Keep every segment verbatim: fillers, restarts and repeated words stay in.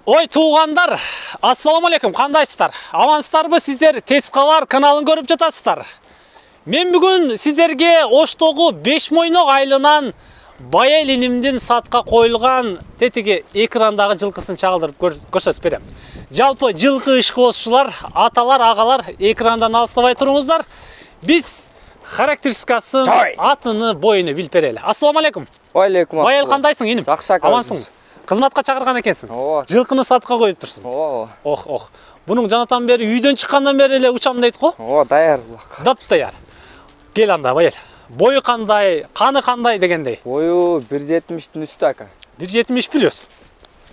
Ой туугандар, ассаламу алейкум, кандайсыздар? Амансыздарбы сиздер? Тез кабар каналын көрүп жатасыздар. Мен бүгүн сиздерге Оштогу беш мойнок айылынан Байел инимдин сатка коюлган тетиги экрандагы жылкысын чагылдырып көрсөтүп берем. Жалпы жылкы ишкыбозчулар, аталар, агалар экрандан алыстабай туруңуздар. Биз характеристикасын, атыны, боюну билип берели. Ассаламу алейкум. Алейкум ассалам. Байел кандайсың, иним? Жакшы, амансың? Кызматка чакырган экенсиң. Ооба. Жылкыны сатка коюп турсуң. Ооба. Ох, ох. Бунун жанатан бери үйдөн чыккандан бери эле учам дейт го? Ооба, даяр. Дап даяр. Кел анда, Байел. Бою кандай, каны кандай дегендей? Бою бир жетимиштин үстү ака. бир жетимиш плюс.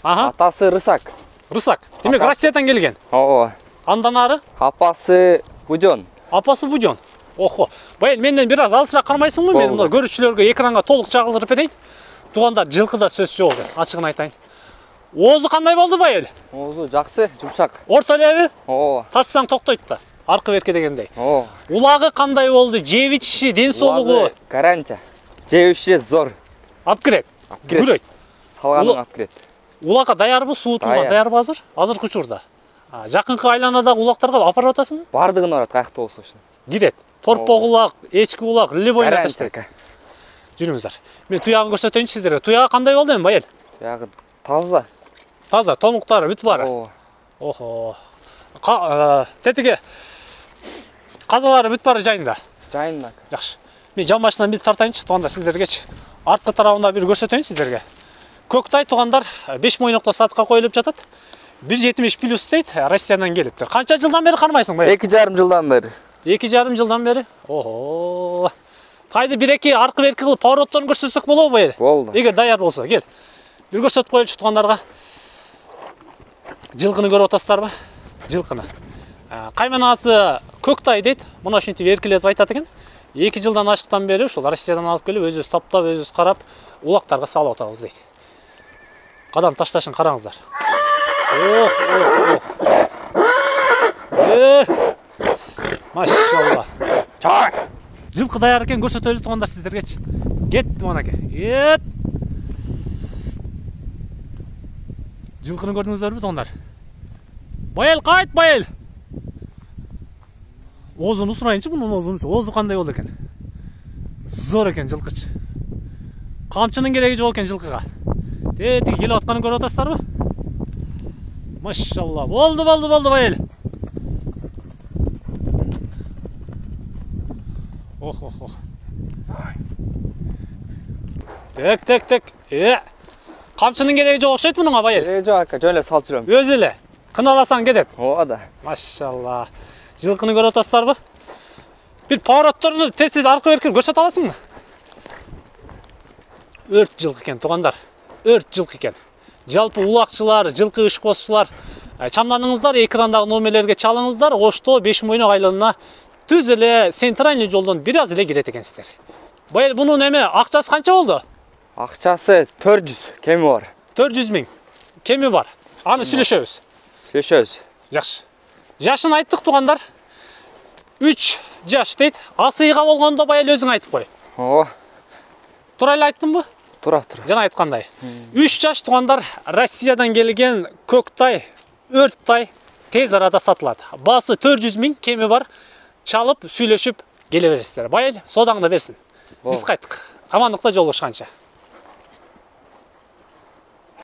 Ага. Атасы рысак. Рысак. Демек Россиядан келген. Ооба. Андан ары? Апасы Будён. Апасы Будён. Охо. Байел, менден бир аз алысыраак кармайсыңбы? Мен мына көрүүчүлөргө экранга толук чагылдырып берейин. Туугандар, жылкыда сөз жок, ачыгын айтайын. Оозу кандай болду, Байел? Оозу жакшы, жумшак. Орто элеби? Ооба. Тартсаң токтойт да. Аркы берке дегендей. Ооба. Улагы кандай болду? Жеп ичиши, ден соолугу? Гарантия. Жеп ичиши зор. Алып кирет. Күрөйт. Салганын алып кирет. Улакка даярбы? Суутуңа даярбы азыр? Азыркы учурда. Жакынкы айланадагы улактарга алып атасыңбы? Бардыгын барат, каякта болсо ошо. Кирет. Торпок улак, эчки улак, любой натыштайт. Жүрүңүздөр. Мен туягын көрсөтөйүнчү сиздерге. Туягы кандай болду эми, Байел? Туягы таза. Таза, томуктары бүт бары. Ооба. Охо. Тетиги казалары бүт бары жайында. Жайында. Жакшы. Мен жан башынан бир тартайынчы, туугандар, сиздергечи. Арткы тарабында бир көрсөтөйүн сиздерге. Көктай туугандар беш мойнокто сатка коюлуп жатат. бир жетимиш плюс дейт, Россиядан келиптир. Канча жылдан бери кармайсың, Байел? эки жарым жылдан бери. эки жарым жылдан бери? Охо. Кайды бир-эки аркы берки кылып поворотторун көрсөтсөк болобу, Байел? Болду. Эгер даяр болсо, кел. Бир көрсөтүп коелучу туугандарга. Жылкыны көрүп атасыздарбы? Жылкыны. Кайман аты Көктай дейт. Мына ушинтип эркелетип айтат экен. эки жылдан ашыктан бери ушул Россиядан алып келип, өзүбүз таптап, өзүбүз карап, улактарга салып атабыз дейт. Кадам ташташын караңыздар. Ох, ох, ох. Э! Машалла. Чай. Жылкы даяр экен, көрсөтөлү туугандар сиздергечи. Кетти манаке. Кет. Жылкыны көрдүңүздөрбү туугандар? Байел кайт, Байел. Оозун сурайынчы, мунун оозун. Оозу кандай болду экен? Зор экен жылкычы. Камчынын кереги жок экен жылкыга. Тетиги келип атканын көрүп атасыздарбы? Машалла. Болду, болду, болду, Байел. Ох, ох, ох. Тек, тек, тек. Э. Камчынын кереги жок окшойт мунуңа, Байел. Кереги жок ака, жөн эле салып жүрөм. Өзү эле. Кыналасаң кетет. Ооба да. Машалла. Жылкыны көрүп атасыздарбы? Бир поворотторуну тез-тез аркы берки көрсөтө аласыңбы? Өрт жылкы экен, туугандар. Өрт жылкы экен. Жалпы улакчылар, жылкы ишкозчулар, чамданыңыздар, экрандагы номерлерге чалыңыздар. Ошто беш мойнок айылына түз эле центральный жолдон бир аз эле кирет экенсиздер. Байел, бунун эме акчасы канча болду? Акчасы төрт жүз, кеми бар. төрт жүз миң. Кеми бар. Аны сүйлөшөбүз. Сүйлөшөбүз. Жакшы. Жашын айттык туугандар. үч жаш дейт. Асыйга болгондо Байел өзүң айтып кой. Ооба. Туура эле айттымбы? Тура, тура. Жана айткандай. үч жаш туугандар, Россиядан келген Көктай, Өрттай тез арада сатылат. Баасы төрт жүз миң, кеми бар. Чалып, сүйлөшүп келе бересиздер. Байел, содаңды берсин. Биз кайттык. Амандыкта жолугушканча.